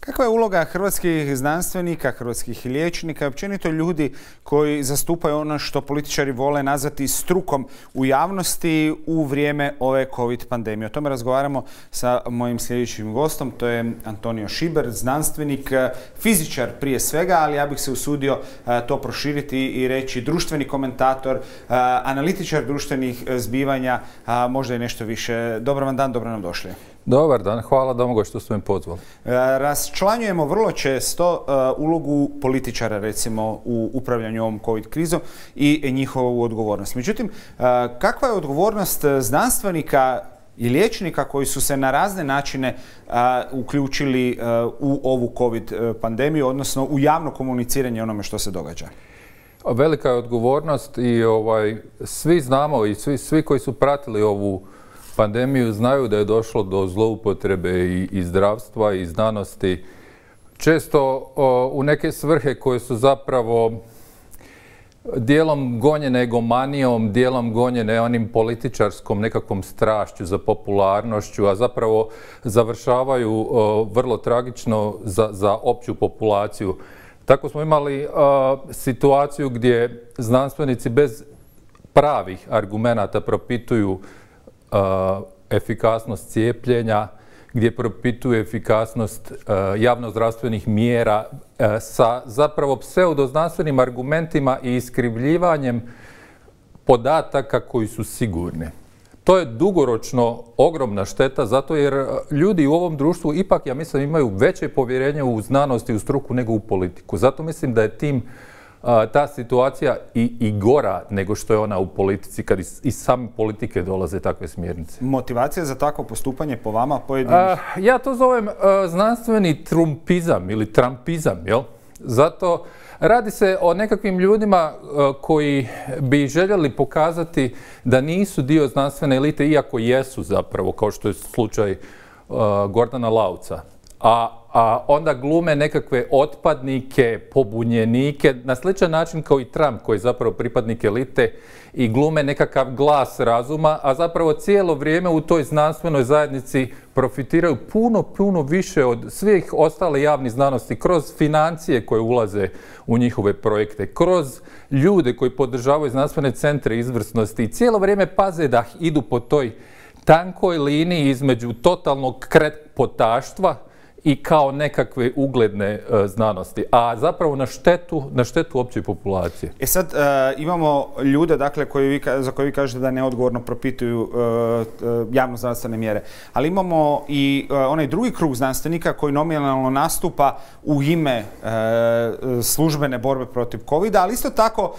Kakva je uloga hrvatskih znanstvenika, hrvatskih liječnika i općenito ljudi koji zastupaju ono što političari vole nazvati strukom u javnosti u vrijeme ove COVID pandemije? O tome razgovaramo sa mojim sljedećim gostom, to je Antonio Šiber, znanstvenik, fizičar prije svega, ali ja bih se usudio to proširiti i reći društveni komentator, analitičar društvenih zbivanja, možda i nešto više. Dobar vam dan, dobro nam došli. Dobar dan, hvala Domagoj što ste me pozvali. Raščlanjujemo vrlo često ulogu političara, recimo, u upravljanju ovom COVID krizom i njihovu odgovornost. Međutim, kakva je odgovornost znanstvenika i liječnika koji su se na razne načine uključili u ovu COVID pandemiju, odnosno u javno komuniciranje onome što se događa? Velika je odgovornost i svi znamo i svi koji su pratili ovu pandemiju znaju da je došlo do zloupotrebe i zdravstva i znanosti, često u neke svrhe koje su zapravo dijelom gonjene egomanijom, dijelom gonjene onim političarskom nekakvom strašću za popularnošću, a zapravo završavaju vrlo tragično za opću populaciju. Tako smo imali situaciju gdje znanstvenici bez pravih argumenata propituju efikasnost cijepljenja, gdje propituje efikasnost javnozdravstvenih mjera sa zapravo pseudoznanstvenim argumentima i iskrivljivanjem podataka koji su sigurni. To je dugoročno ogromna šteta, zato jer ljudi u ovom društvu ipak, ja mislim, imaju veće povjerenje u znanost i u struku nego u politiku. Zato mislim da je ta situacija i gora nego što je ona u politici, kad iz same politike dolaze takve smjernice. Motivacija za takvo postupanje po vama pojedinih? Ja to zovem znanstveni trumpizam ili trampizam, jel? Zato radi se o nekakvim ljudima koji bi željeli pokazati da nisu dio znanstvene elite, iako jesu zapravo, kao što je slučaj Gordana Lauca. A onda glume nekakve otpadnike, pobunjenike, na sličan način kao i Trump, koji je zapravo pripadnik elite, i glume nekakav glas razuma, a zapravo cijelo vrijeme u toj znanstvenoj zajednici profitiraju puno više od svih ostale javnih znanosti, kroz financije koje ulaze u njihove projekte, kroz ljude koji podržavaju znanstvene centre izvrsnosti i cijelo vrijeme paze da idu po toj tankoj liniji između totalnog kretpotaštva i kao nekakve ugledne znanosti, a zapravo na štetu opće populacije. Sad imamo ljude, dakle, za koje vi kažete da neodgovorno propituju javno-zdravstvene mjere, ali imamo i onaj drugi krug znanstvenika koji nominalno nastupa u ime službene borbe protiv COVID-a, ali isto tako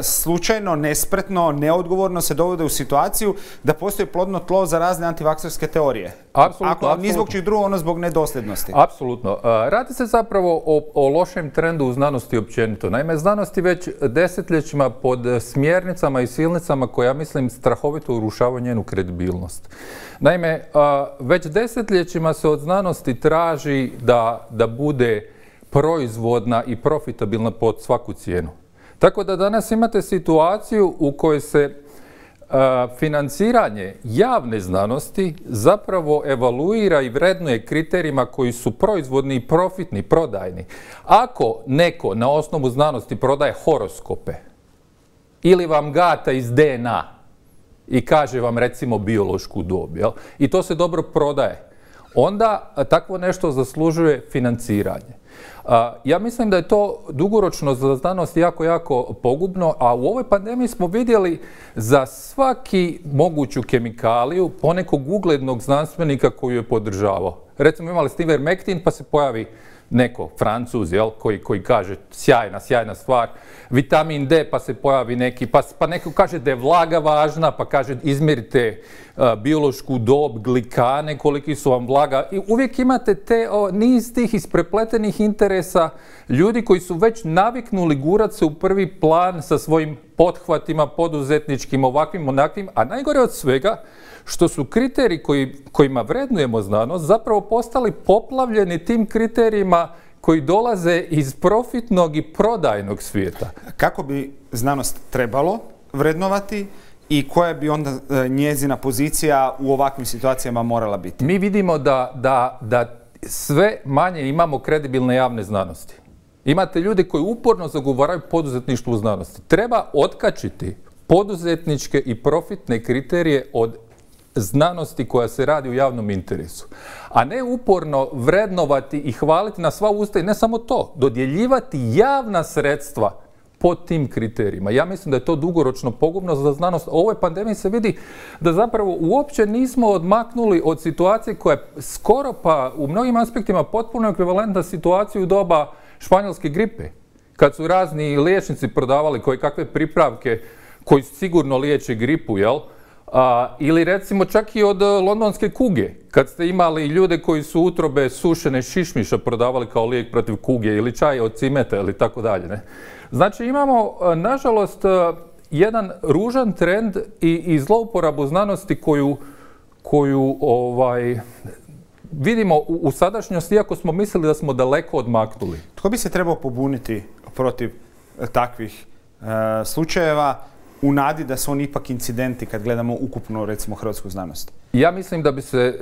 slučajno, nespretno, neodgovorno se dovode u situaciju da postoji plodno tlo za razne antivakserske teorije. Ako ni zbog čeg drugog, ono zbog nedosljednosti. Apsolutno. Radi se zapravo o lošem trendu u znanosti općenito. Naime, znanosti već desetljećima pod smjernicama i silnicama koje, ja mislim, strahovito urušavaju njenu kredibilnost. Naime, već desetljećima se od znanosti traži da bude proizvodna i profitabilna pod svaku cijenu. Tako da danas imate situaciju u kojoj se financiranje javne znanosti zapravo evaluira i vrednuje kriterijima koji su proizvodni i profitni, prodajni. Ako neko na osnovu znanosti prodaje horoskope ili vam gata iz DNA i kaže vam, recimo, biološku dob, jel? I to se dobro prodaje, onda takvo nešto zaslužuje financiranje. Ja mislim da je to dugoročno za znanost jako pogubno, a u ovoj pandemiji smo vidjeli za svaki moguću kemikaliju ponekog uglednog znanstvenika koji je podržavao. Recimo, imali ste Ivermectin, pa se pojavi neko Francuz, jel, koji kaže sjajna stvar, vitamin D, pa se pojavi neki, pa neko kaže da je vlaga važna, pa kaže izmjerite biološku dob, glikane, koliki su vam vlaga, i uvijek imate niz tih isprepletenih interesa ljudi koji su već naviknuli gurat se u prvi plan sa svojim pothvatima poduzetničkim, ovakvim, onakvim, a najgore od svega što su kriteriji kojima vrednujemo znanost zapravo postali poplavljeni tim kriterijima koji dolaze iz profitnog i prodajnog svijeta. Kako bi znanost trebalo vrednovati i koja bi onda njezina pozicija u ovakvim situacijama morala biti? Mi vidimo da sve manje imamo kredibilne javne znanosti. Imate ljudi koji uporno zagovaraju poduzetništvo u znanosti. Treba otkačiti poduzetničke i profitne kriterije od znanosti koja se radi u javnom interesu. A ne uporno vrednovati i hvaliti na sva usta i ne samo to, dodjeljivati javna sredstva po tim kriterijima. Ja mislim da je to dugoročno pogubno za znanost. U ovoj pandemiji se vidi da zapravo uopće nismo odmaknuli od situacije koja je skoro pa u mnogim aspektima potpuno ekvivalentna situaciji u doba španjolske gripe. Kad su razni liječnici prodavali koje kakve pripravke koji sigurno liječe gripu, jel? Ili recimo čak i od londonske kuge, kad ste imali ljude koji su utrobe sušene šišmiša prodavali kao lijek protiv kuge ili čaj od cimeta ili tako dalje. Ne? Znači imamo, nažalost, jedan ružan trend i zlouporabu znanosti koju vidimo u sadašnjosti, iako smo mislili da smo daleko odmaknuli. Tko bi se trebao pobuniti protiv takvih slučajeva u nadi da su oni ipak incidenti kad gledamo ukupno, recimo, hrvatsku znanost? Ja mislim da bi se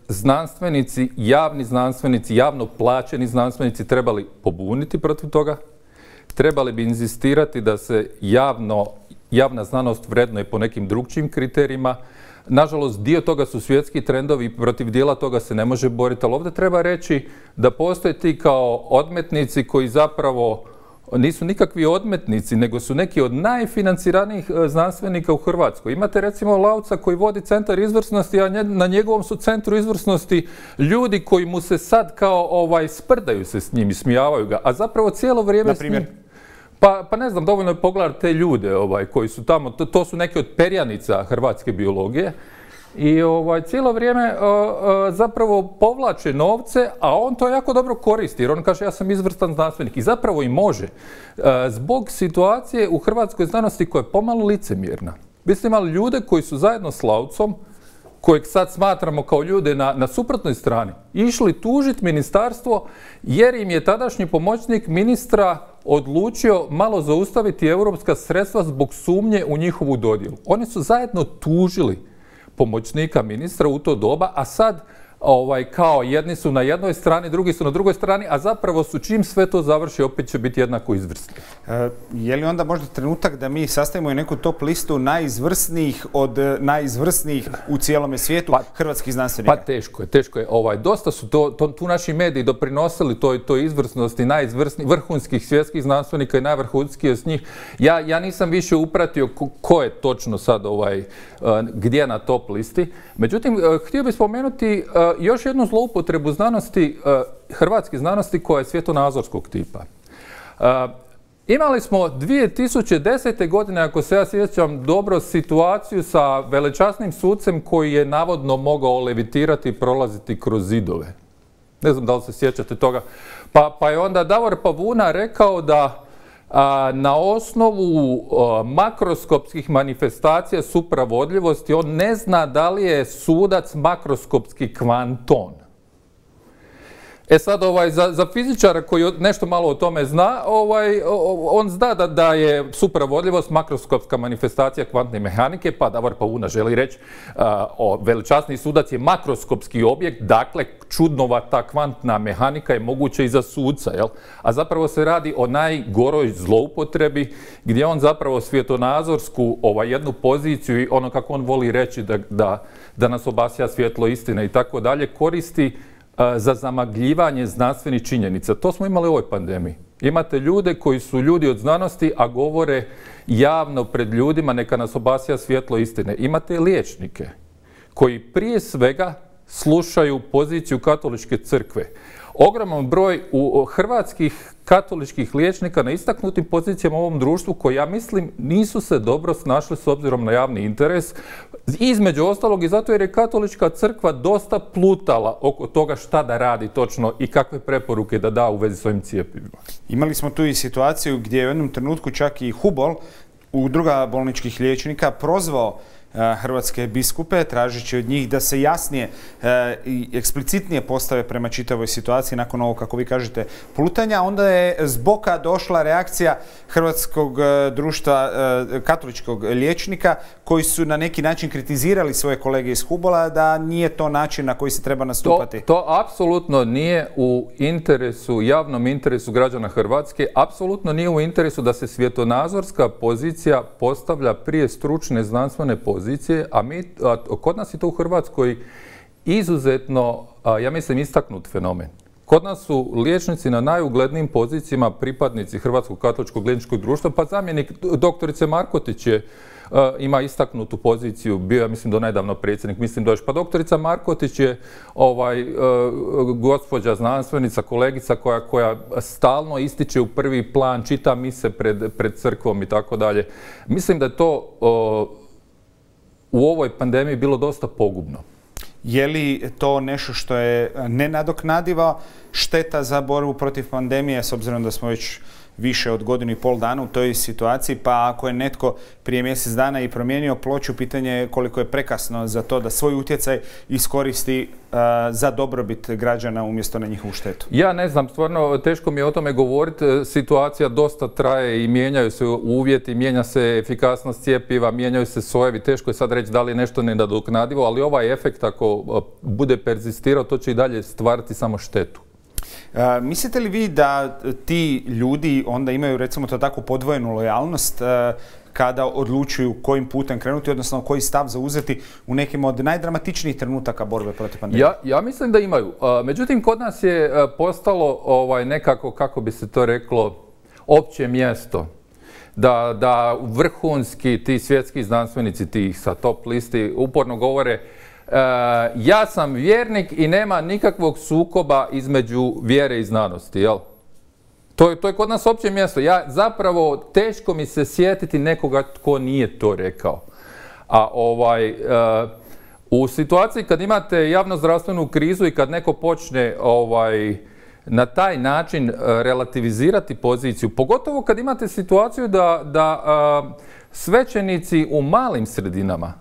znanstvenici, javno plaćeni znanstvenici trebali pobuniti protiv toga. Trebali bi inzistirati da se javna znanost vrednuje po nekim drugčijim kriterijima. Nažalost, dio toga su svjetski trendovi i protiv dijela toga se ne može boriti, ali ovdje treba reći da postoje ti kao odmetnici koji zapravo nisu nikakvi odmetnici, nego su neki od najfinanciranijih znanstvenika u Hrvatskoj. Imate recimo Lauca koji vodi centar izvrsnosti, a na njegovom su centru izvrsnosti ljudi koji mu se sad kao sprdaju se s njim i smijavaju ga, a zapravo cijelo vrijeme s njim... Pa ne znam, dovoljno je pogledati te ljude koji su tamo, to su neki od perjanica hrvatske biologije i cijelo vrijeme zapravo povlače novce, a on to jako dobro koristi jer on kaže ja sam izvrstan znanstvenik i zapravo i može. Zbog situacije u hrvatskoj znanosti koja je pomalo licemjerna. Vi ste imali ljude koji su zajedno s Laucom, kojeg sad smatramo kao ljude na suprotnoj strani, išli tužiti ministarstvo jer im je tadašnji pomoćnik ministra odlučio malo zaustaviti europska sredstva zbog sumnje u njihovu dodjelu. Oni su zajedno tužili pomoćnika ministra u to doba, a sad kao jedni su na jednoj strani, drugi su na drugoj strani, a zapravo su čim sve to završi opet će biti jednako izvrsni. Je li onda možda trenutak da mi sastavimo i neku top listu najizvrsnijih od najizvrsnijih u cijelome svijetu hrvatskih znanstvenika? Pa teško je. Dosta su tu naši mediji doprinosili toj izvrsnosti najizvrsnijih vrhunskih svjetskih znanstvenika i najvrhunskih s njih. Ja nisam više upratio ko je točno sad gdje na top listi. Međutim, htio bih spomenuti još jednu zloupotrebu znanosti, hrvatske znanosti koja je svjetonazorskog tipa. Imali smo 2010. godine, ako se ja sjećam dobro, situaciju sa velečasnim sucem koji je navodno mogao levitirati i prolaziti kroz zidove. Ne znam da li se sjećate toga. Pa je onda Davor Pavuna rekao da na osnovu makroskopskih manifestacija supravodljivosti on ne zna da li je sudac makroskopski kvanton. E sad, za fizičara koji nešto malo o tome zna, on zna da je supravodljivost makroskopska manifestacija kvantne mehanike, pa Davor Pavuna želi reći veličasni sudac je makroskopski objekt, dakle čudnovata kvantna mehanika je moguća i za suca, jel? A zapravo se radi o najgoroj zloupotrebi gdje on zapravo svjetonazorsku jednu poziciju i ono kako on voli reći da nas obasja svjetlo istine i tako dalje koristi za zamagljivanje znanstvenih činjenica. To smo imali u ovoj pandemiji. Imate ljude koji su ljudi od znanosti, a govore javno pred ljudima neka nas obasja svjetlo istine. Imate liječnike koji prije svega slušaju poziciju katoličke crkve. Ogroman broj hrvatskih katoličkih liječnika na istaknutim pozicijama u ovom društvu koji, ja mislim, nisu se dobro snašli s obzirom na javni interes. Između ostalog i zato jer je katolička crkva dosta plutala oko toga šta da radi točno i kakve preporuke da da u vezi s ovim cjepivima. Imali smo tu i situaciju gdje je u jednom trenutku čak i Hubol, udruga bolničkih liječnika, prozvao hrvatske biskupe, tražeći od njih da se jasnije i eksplicitnije postave prema čitavoj situaciji nakon ovog, kako vi kažete, plutanja. Onda je zboka došla reakcija Hrvatskog društva katoličkog liječnika, koji su na neki način kritizirali svoje kolege iz Hubola da nije to način na koji se treba nastupati. To apsolutno nije u interesu, javnom interesu građana Hrvatske, apsolutno nije u interesu da se svjetonazorska pozicija postavlja prije stručne znanstvene pozicije, a kod nas je to u Hrvatskoj izuzetno, ja mislim, istaknut fenomen. Kod nas su liječnici na najuglednijim pozicijama pripadnici Hrvatskog katoličkog liječničkog društva, pa zamjenik doktorice Markotić ima istaknutu poziciju, bio je, mislim, do nedavno predsjednik, mislim da još. Pa doktorica Markotić je gospođa znanstvenica, kolegica koja stalno ističe u prvi plan, čita mise pred crkvom i tako dalje. Mislim da je to u ovoj pandemiji bilo dosta pogubno. Je li to nešto što je nenadoknadiva šteta za borbu protiv pandemije, s obzirom da smo već više od godinu i pol dana u toj situaciji, pa ako je netko prije mjesec dana i promijenio ploču, pitanje je koliko je prekasno za to da svoj utjecaj iskoristi za dobrobit građana umjesto na njihovu štetu? Ja ne znam, stvarno teško mi je o tome govoriti. Situacija dosta traje i mijenjaju se uvjeti, mijenja se efikasnost cjepiva, mijenjaju se sojevi. Teško je sad reći da li je nešto nenadoknadivo, ali ovaj efekt ako bude perzistirao, to će i dalje stvarati samo štetu. Mislite li vi da ti ljudi onda imaju, recimo to tako, podvojenu lojalnost kada odlučuju kojim putem krenuti, odnosno koji stav zauzeti u nekim od najdramatičnijih trenutaka borbe protiv pandemije? Ja mislim da imaju. Međutim, kod nas je postalo nekako, kako bi se to reklo, opće mjesto. Da vrhunski ti svjetski znanstvenici, ti sa top listi, uporno govore ja sam vjernik i nema nikakvog sukoba između vjere i znanosti, jel? To je kod nas opće mjesto. Ja zapravo, teško mi se sjetiti nekoga tko nije to rekao. A u situaciji kad imate javnozdravstvenu krizu i kad neko počne na taj način relativizirati poziciju, pogotovo kad imate situaciju da svećenici u malim sredinama,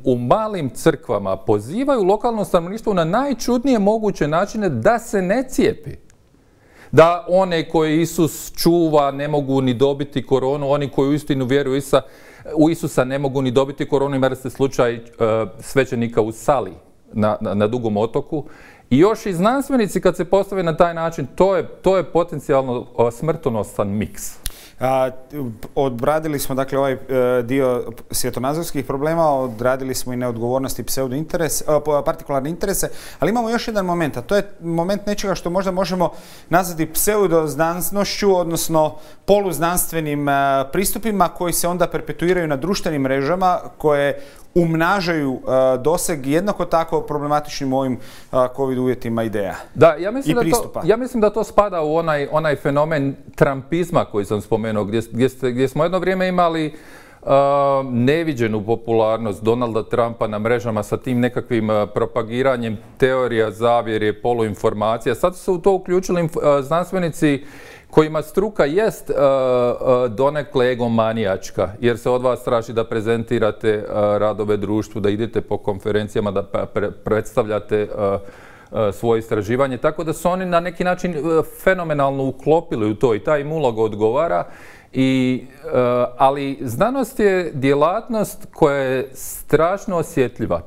u malim crkvama pozivaju lokalno stanovništvo na najčudnije moguće načine da se ne cijepi. Da one koje Isus čuva ne mogu ni dobiti koronu, oni koji uistinu vjeruju u Isusa ne mogu ni dobiti koronu. Imali ste slučaj svećenika u Sali na Dugom otoku. I još i znanstvenici kad se postave na taj način, to je potencijalno smrtonosan miks. Odradili smo, dakle, ovaj dio svjetonazorskih problema, odradili smo i neodgovornost i partikularne interese, ali imamo još jedan moment, a to je moment nečega što možda možemo nazvati pseudoznanstvenošću, odnosno poluznanstvenim pristupima koji se onda perpetuiraju na društvenim mrežama, koje umnažaju doseg jednako tako problematičnim u ovim COVID uvjetima ideja i pristupa. Ja mislim da to spada u onaj fenomen trumpizma koji sam spomenuo, gdje smo jedno vrijeme imali neviđenu popularnost Donalda Trumpa na mrežama sa tim nekakvim propagiranjem teorija zavjere, poluinformacija. Sad su se u to uključili znanstvenici kojima struka jest donekle egomanijačka, jer se od vas traži da prezentirate radove društvu, da idete po konferencijama, da predstavljate svoje istraživanje, tako da su oni na neki način fenomenalno uklopili u to i ta im uloga odgovara. Ali znanost je djelatnost koja je strašno osjetljiva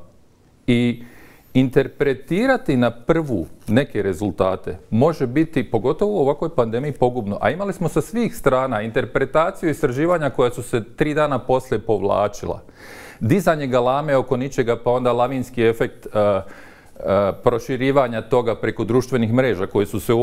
i interpretirati na prvu neke rezultate može biti, pogotovo u ovakvoj pandemiji, pogubno. A imali smo sa svih strana interpretaciju istraživanja koja su se 3 dana poslije povlačila. Dizanje galame oko ničega, pa onda lavinski efekt proširivanja toga preko društvenih mreža koji su se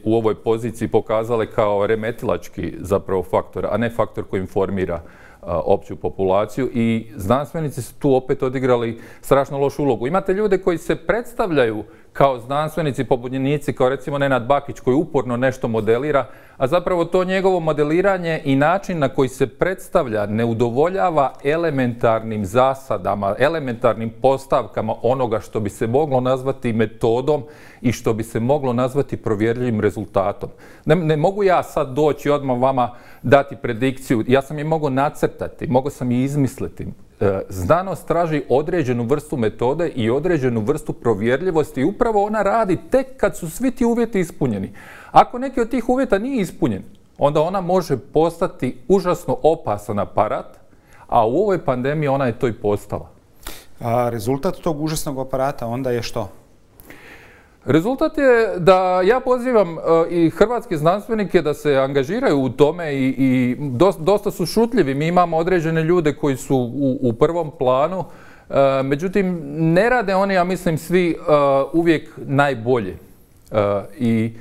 u ovoj poziciji pokazale kao remetilački zapravo faktor, a ne faktor koji informira opću populaciju, i znanstvenici su tu opet odigrali strašno lošu ulogu. Imate ljude koji se predstavljaju kao znanstvenici, pobunjenici, kao recimo Nenad Bakić koji uporno nešto modelira, a zapravo to njegovo modeliranje i način na koji se predstavlja ne udovoljava elementarnim zasadama, elementarnim postavkama onoga što bi se moglo nazvati metodom i što bi se moglo nazvati provjerljivim rezultatom. Ne mogu ja sad doći odmah vama dati predikciju, ja sam je mogao nacrtati, mogao sam je izmisliti. Znanost traži određenu vrstu metode i određenu vrstu provjerljivosti i upravo ona radi tek kad su svi ti uvjeti ispunjeni. Ako neki od tih uvjeta nije ispunjen, onda ona može postati užasno opasan aparat, a u ovoj pandemiji ona je to i postala. A rezultat tog užasnog aparata onda je što? Rezultat je da ja pozivam i hrvatske znanstvenike da se angažiraju u tome i dosta su šutljivi. Mi imamo određene ljude koji su u prvom planu, međutim ne rade oni, ja mislim, svi uvijek najbolje. I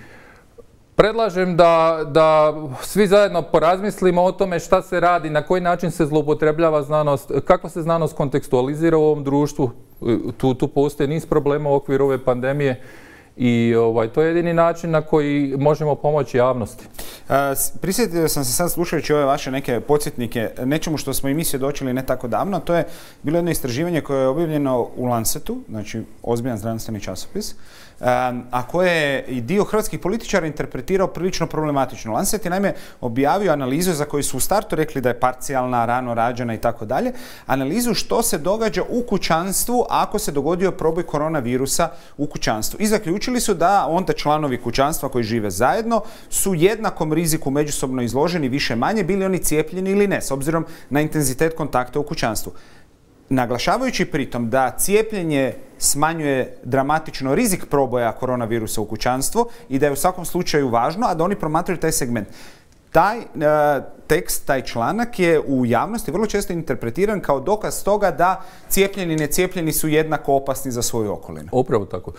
predlažem da svi zajedno porazmislimo o tome šta se radi, na koji način se zloupotrebljava znanost, kako se znanost kontekstualizira u ovom društvu. Tu postoji niz problema u okviru ove pandemije. I to je jedini način na koji možemo pomoći javnosti. Prisjetio sam se sad slušajući ove vaše neke podsjetnike nečemu što smo i mi svjedočili ne tako davno. To je bilo jedno istraživanje koje je objavljeno u Lancetu, znači ozbiljan znanstveni časopis, a koje je i dio hrvatskih političara interpretirao prilično problematično. Lancet je naime objavio analizu za koju su u startu rekli da je parcijalna, rano rađena i tako dalje. Analizu što se događa u kućanstvu ako se dogodio proboj koronavirusa u kućanstvu. I zaključili su da onda članovi kućanstva koji žive zajedno su jednakom riziku međusobno izloženi više manje, bili oni cijepljeni ili ne, s obzirom na intenzitet kontakta u kućanstvu. Naglašavajući pritom da cijepljenje smanjuje dramatično rizik proboja koronavirusa u kućanstvo i da je u svakom slučaju važno, a da oni promatraju taj segment. Taj tekst, taj članak je u javnosti vrlo često interpretiran kao dokaz toga da cijepljeni i necijepljeni su jednako opasni za svoju okolinu. Upravo tako.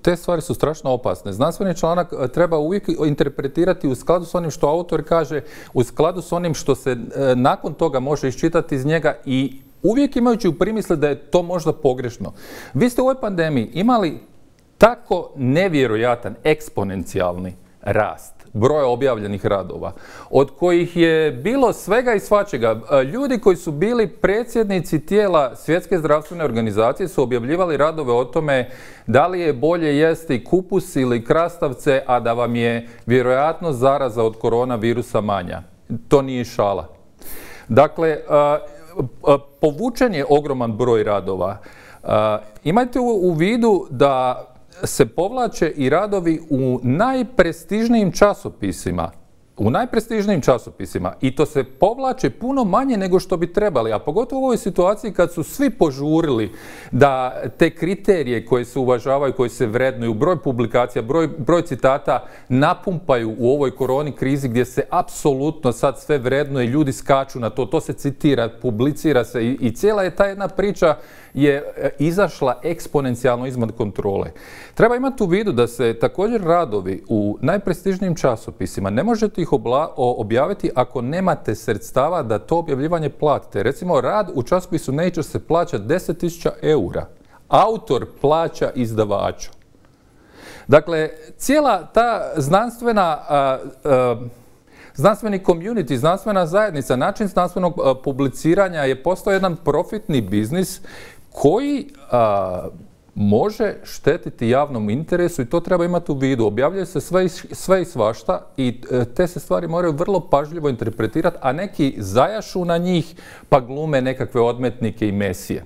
Te stvari su strašno opasne. Znanstveni članak treba uvijek interpretirati u skladu s onim što autor kaže, u skladu s onim što se nakon toga može iščitati iz njega i uvijek imajući u primisli da je to možda pogrešno. Vi ste u ovoj pandemiji imali tako nevjerojatan, eksponencijalni rast broja objavljenih radova, od kojih je bilo svega i svačega. Ljudi koji su bili predsjednici tijela Svjetske zdravstvene organizacije su objavljivali radove o tome da li je bolje jesti kupus ili krastavce, a da vam je vjerojatno zaraza od koronavirusa manja. To nije šala. Dakle, povučen je ogroman broj radova. Imajte u vidu da se povlače i radovi u najprestižnijim časopisima. I to se povlače puno manje nego što bi trebali, a pogotovo u ovoj situaciji kad su svi požurili da te kriterije koje se uvažavaju, koje se vrednuju, broj publikacija, broj citata napumpaju u ovoj koroni krizi gdje se apsolutno sad sve vrednuje, ljudi skaču na to se citira, publicira se i cijela je ta jedna priča je izašla eksponencijalno izvan kontrole. Treba imati u vidu da se također radovi u najprestižnijim časopisima ne možete ih objaviti ako nemate sredstava da to objavljivanje platite. Recimo, rad u časopisu Nature se plaća 10.000 eura. Autor plaća izdavaču. Dakle, cijela ta znanstveni community, znanstvena zajednica, način znanstvenog publiciranja je postao jedan profitni biznis koji može štetiti javnom interesu i to treba imati u vidu. Objavljuje se sve i svašta i te se stvari moraju vrlo pažljivo interpretirati, a neki zajašu na njih pa glume nekakve odmetnike i mesije.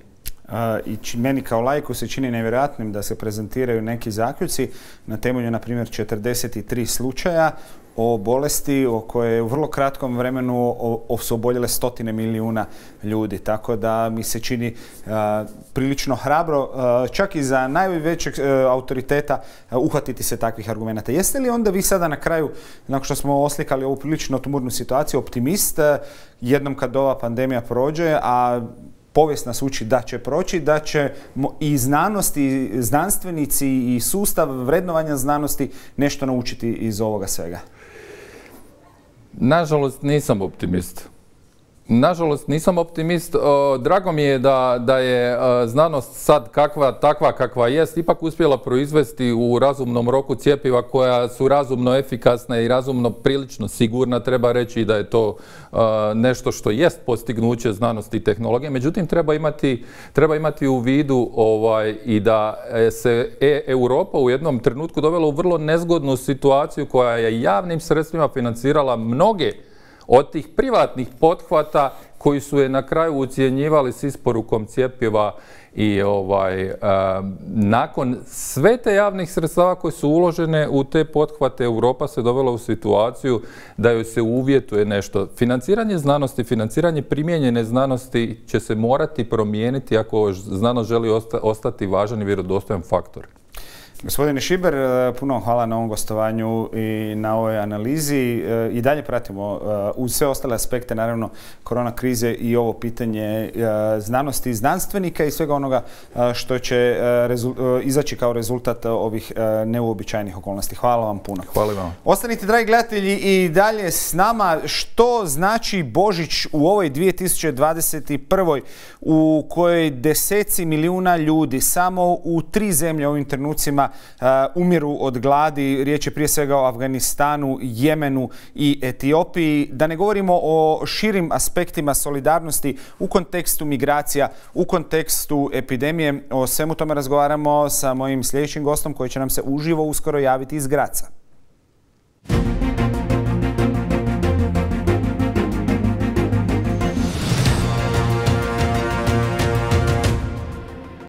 I meni kao laiku se čini nevjerojatnim da se prezentiraju neki zaključci na temelju, na primjer, 43 slučaja o bolesti o kojoj u vrlo kratkom vremenu su oboljele 100 milijuna ljudi. Tako da mi se čini prilično hrabro, čak i za najvećeg autoriteta, uhvatiti se takvih argumenata. Jeste li onda vi sada na kraju, nakon što smo oslikali ovu prilično tumurnu situaciju, optimist, jednom kad ova pandemija prođe, a povijest nas uči da će proći, da će i znanost, i znanstvenici, i sustav vrednovanja znanosti nešto naučiti iz ovoga svega? Nažalost, nisam optimist. Nažalost, nisam optimist. Drago mi je da je znanost sad takva kakva jest, ipak uspjela proizvesti u razumnom roku cjepiva koja su razumno efikasna i razumno prilično sigurna. Treba reći da je to nešto što jest postignuće znanosti i tehnologije. Međutim, treba imati u vidu i da se Europa u jednom trenutku dovela u vrlo nezgodnu situaciju koja je javnim sredstvima financirala mnoge od tih privatnih pothvata koji su je na kraju ucjenjivali s isporukom cjepiva i nakon sve te javnih sredstava koje su uložene u te pothvate, Europa se dovela u situaciju da joj se uvjetuje nešto. Financiranje znanosti, financiranje primijenjene znanosti će se morati promijeniti ako znanost želi ostati važan i vjerodostojan faktor. Gospodine Šiber, puno hvala na ovom gostovanju i na ovoj analizi. I dalje pratimo uz sve ostale aspekte, naravno, korona krize i ovo pitanje znanosti i znanstvenika i svega onoga što će izaći kao rezultat ovih neuobičajenih okolnosti. Hvala vam puno. Hvala vam. Ostanite, dragi gledatelji, i dalje s nama. Što znači Božić u ovoj 2021. u kojoj deseci milijuna ljudi samo u 3 zemlje ovim trenucima umiru od gladi. Riječ je prije svega o Afganistanu, Jemenu i Etiopiji. Da ne govorimo o širim aspektima solidarnosti u kontekstu migracija, u kontekstu epidemije. O svemu tome razgovaramo sa mojim sljedećim gostom koji će nam se uživo uskoro javiti iz Graca.